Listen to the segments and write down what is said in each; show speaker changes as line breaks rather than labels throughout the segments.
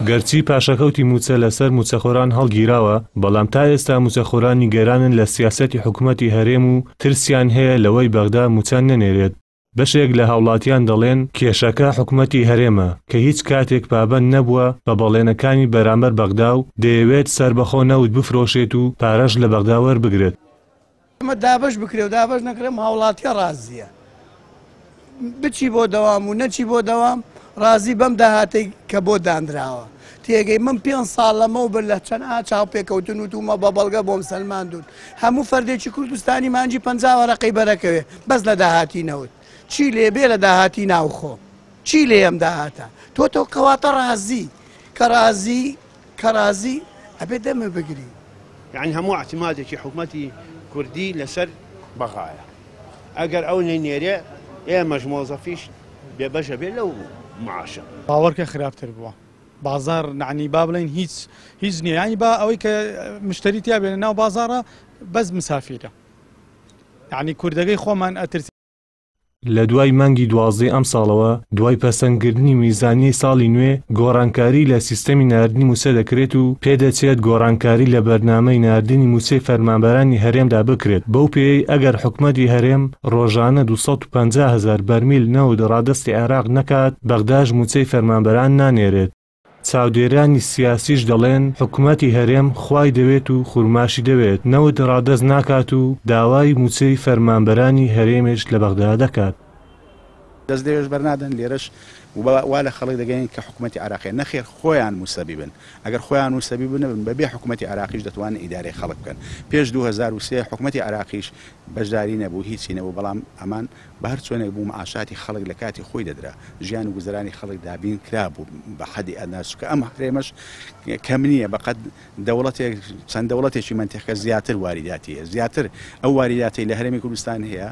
گەرچی پاشەکەوتی مووچە لەسەر مووچەخۆران هەڵگیراوە، بەڵام تا ئێستا مووچەخۆران نیگەرانن لە سیاسەتی حکومەتی هەرێم و ترسیان هەیە لەوەی بەغدا مووچە نەنێرێت. بەشێک لە هاوڵاتیان دەڵێن کێشەکە حکومەتی هەرێمە کە هیچ کاتێک پابەند نەبووە بە بەڵێنەکانی بەرامبەر بەغدا و دەیەوێت سەربەخۆ نەوت بفرۆشێت و پارەش لە بەغدا وەربگرێت.
ئەمە دابەش بکرێ و دابەش نەکرێ ئەم هاوڵاتیە ڕازیە بچی بۆ دەوام و نەچی بۆ دەوام ڕازی بەم داهاتەی کە بۆ دانراوە. تێگەی من پێ ساڵ لەمەو بەر لە چەند چاوپێکەوتن وتومە بە بەڵگە بۆم سەلماندون هەموو فەردێکی کوردستانی مانجی 50 وەرەقەی بەرەکەوێ بەس لە داهاتی نەوت چی لێ بێ لە داهاتی ناوخۆ چی لێ ئەم داهاتە تۆ تۆ کەواتە ڕازی کە ڕازی کە ڕازی ئەبێ دەمە بگری.
یەعنی هەموو ئیعتیمادێکی حکومەتی کوردی لەسەر بەغایە ئەگەر ئەو نەینێرێ ئێمەش مۆزەفیش بێبەش ئەبێ لەو معاشە.
باوەڕکە خراپتر بووە بازاڕ نعنی با بڵێن هیچ هیچ نییە یعنی با ئەوەی کە مشتری تیا بێنە ناو بازاڕە بەس مسافیرە یعنی کوردەکەی خۆمان ئەترس.
لە دوای مانگی دوازدەی ئەمساڵەوە، دوای پەسەندکردنی میزانیەی ساڵی نوێ، گۆڕانکاری لە سیستەمی ناردنی مووچە دەکرێت و پێدەچێت گۆڕانکاری لە بەرنامەی ناردنی مووچەی فەرمانبەرانی هەرێمدا بکرێت، بەو پێیەی ئەگەر حکومەتی هەرێم ڕۆژانە 250 هەزار بەرمیل نەوت ڕادەستی عێراق نەکات، بەغداش مووچەی فەرمانبەران نانێرێت. چاودێرانی سیاسیش دەڵێن، حکومەتی هەرێم خوای دەوێت و خورماشی دەوێت، نەوت ڕادەست ناکات و داوای مووچەی فەرمانبەرانی هەرێمیش لە بەغدا دەکات.
دەست لەوێش بەرنادەن لێرەش وا لە خەڵک دەگەین کە حکومەتی عێراقیە نەخێر خۆیان موسەبیبن ئەگەر خۆیان موسەبیب نەبن بەبێ حکومەتی عێراقیش دەتوانن ئیدارەی خەڵک بکەن پێش 2003 حکومەتی عێراقیش بەشداری نەبوو هیچی نەبوو بەڵام ئەمان بە هەر چۆنێک بوو معاشاتی خەڵک لە کاتی خۆی دەدرا، ژیان و گوزەرانی خەڵک دابین کرابوو بە حەدی ئەدنا، چونکە ئەم هەرێمەش کەم نییە بە قەد دەوڵەتێک چەند دەوڵەتێکی مەنتیقە زیاتر واریداتی هەیە، زیاتر ئەو واریداتەی لە هەرێمی کوردستان هەیە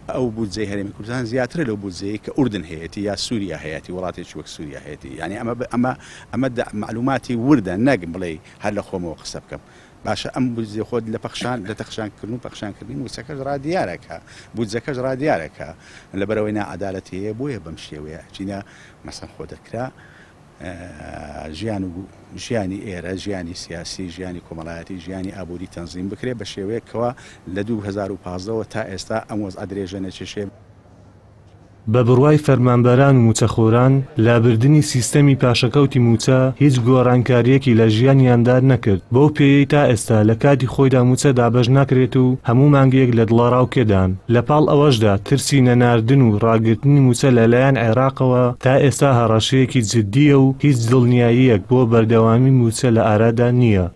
ئەو بودجەی هەرێمی کوردستان زیاترە لەو بودجەیەی کە ئوردن هەیەتی یا سووریا هەیەتی وڵاتێکی وەک سووریا هەیەتی یانی ئەمە ئەمە ئەمە مەعلوماتی وردە نەک بڵێی هەر لە خۆمەوە قسە بکەم. باشە ئەم بودجە خۆت لە پەخشان لە تەخشان کردن و پەخشان کردنی موچەکەش ڕا دیارە کە بودجەکەش ڕا دیارە کە لەبەرئەوەی ناعەدالەتی هەیە بۆیە بەم شێوەیە ئەچینە مەسەن خۆ دەکرا ژیان و ژیانی ئێرە ژیانی سیاسی ژیانی کۆمەڵایەتی ژیانی ئابووری تەنزیم بکرێ بە شێوەیەک کەوا لە 2015ەوە تا ئێستا ئەم وەزعە درێژە نەکێشێ.
بە بڕوای فەرمانبەران و مووچەخۆران، لابردنی سیستەمی پاشەکەوتی مووچە هیچ گۆڕانکارییەکی لە ژیانیاندا نەکرد، بەو پێیەی تا ئێستا لە کاتی خۆیدا مووچە دابەش ناکرێت و هەموو مانگێک لە دڵەڕاوکێدان. لە پاڵ ئەوەشدا ترسی نەناردن و ڕاگرتنی مووچە لەلایەن عێراقەوە تا ئێستا هەڕەشەیەکی جددییە و هیچ دڵنیاییەک بۆ بەردەوامی مووچە لە ئارادا نییە.